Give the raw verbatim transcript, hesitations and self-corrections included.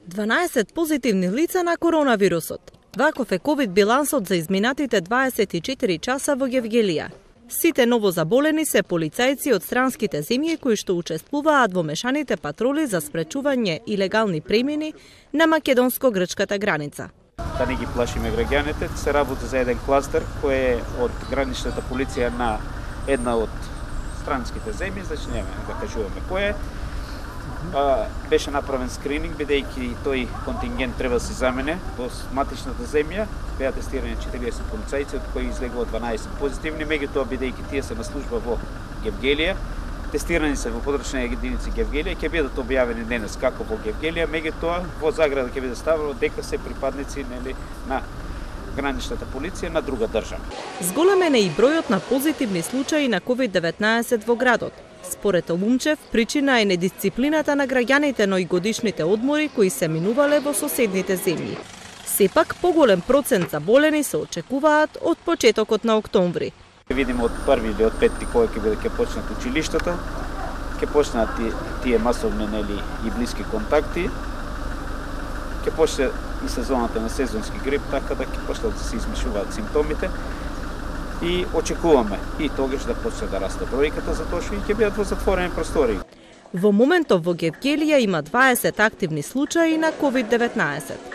дванаесет позитивни лица на коронавирусот. Ваков е ковид билансот за изминатите дваесет и четири часа во Гевгелија. Сите новозаболени се полицајци од странските земји кои што учествуваат во мешаните патроли за спречување илегални премини на македонско-грчката граница. Да не ги плашиме граѓаните, се работи за еден кластер кој е од граничната полиција на една од странските земји, значи нема да кажуваме кој е. А, беше направен скрининг, бидејќи тој контингент треба да се замене во матичната земја. Беа тестирани четириесет полицајци, од кои излегува дванаесет позитивни, меѓутоа бидејќи тие се на служба во Гевгелија, тестирани се во подрачни единици Гевгелија, ќе бидат објавени денес како во Гевгелија, меѓутоа во заграда ќе биде ставено дека се припадници нели на граничната полиција на друга држава. Зголемен е и бројот на позитивни случаи на ковид деветнаесет во градот. Според Олумчев, причина е недисциплината на граѓаните, но и годишните одмори кои се минувале во соседните земји. Сепак, поголем процент заболени се очекуваат од почетокот на октомври. Видиме од први или од петти кога ќе биде ќе почнат училиштата, ќе почнат тие масовни нели и блиски контакти, ќе почне и сезоната на сезонски грип, така да ќе почнат да се измишуваат симптомите. И очекуваме и тогаш да почне да расте бројката, затоа што и ќе бидат во затворени простори. Во моментов во Гевгелија има дваесет активни случаи на ковид деветнаесет.